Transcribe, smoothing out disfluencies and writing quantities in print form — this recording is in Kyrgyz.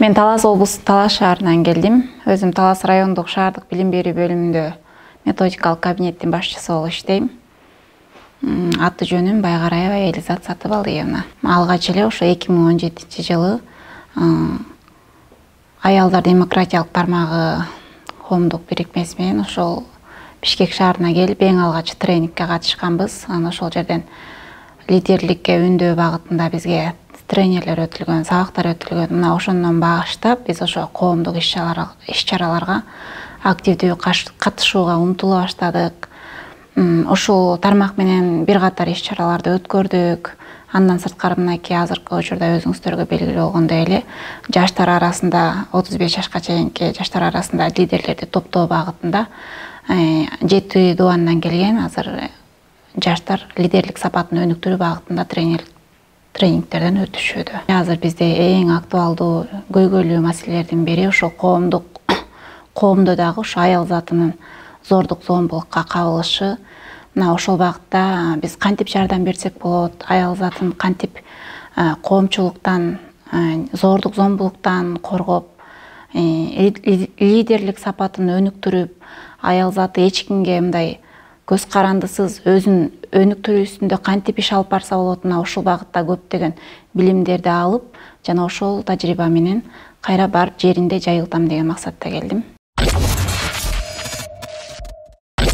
Мен Талас облусу Талас шаарынан келдим. Өзүм Талас райондук шаардык билим берүү бөлүмүндө методикалык кабинеттин башчысы болуп иштейм. Аты жөнүм Байгараева Элизат Сатыбалдиевна. Алгач эле ошо 2017-жылы Аялдар демократиялык тармагы коомдук бирикмеси менен ошол Бишкек шаарына келип, эң алгач тренингке катышканбыз. Анан ошол жерден лидерликке үндөө багытында бизге тренерлер өтүлгөн, сабактар өтүлгөн. Мына ошондон баштап биз ошо коомдук иш-чараларга активдүү катышууга умтула баштадык. Ошол тармак менен бир катар иш-чараларды өткөрдүк. Андан сырткары мынакей азыркы учурда өзүңүздөргө белгилүү болгондой эле жаштар арасында 35 жашка чейинки жаштар арасында лидерлерди топтоо багытында 7 дубандан келген азыр жаштар лидерлик сапатын өнүктүрүү багытында тренингтерден өтүшүүдө. Азыр бизде эң актуалдуу көйгөйлүү маселелердин бири ошол коомдо дагы ошо аял затынын зордук зомбулукка кабылышы. Мына ошол багытта биз кантип жардам берсек болот, аял затын кантип коомчулуктан, зордук зомбулуктан коргоп, лидерлик сапатын өнүктүрүп, аял заты эч кимге мындай көз карандысыз өзүн өнүктүрүү үстүндө кантип иш алып барса болот, мына ушул багытта көптөгөн билимдерди алып, жана ошол тажрыйба менен кайра барып жеринде жайылтам деген максатта келдим.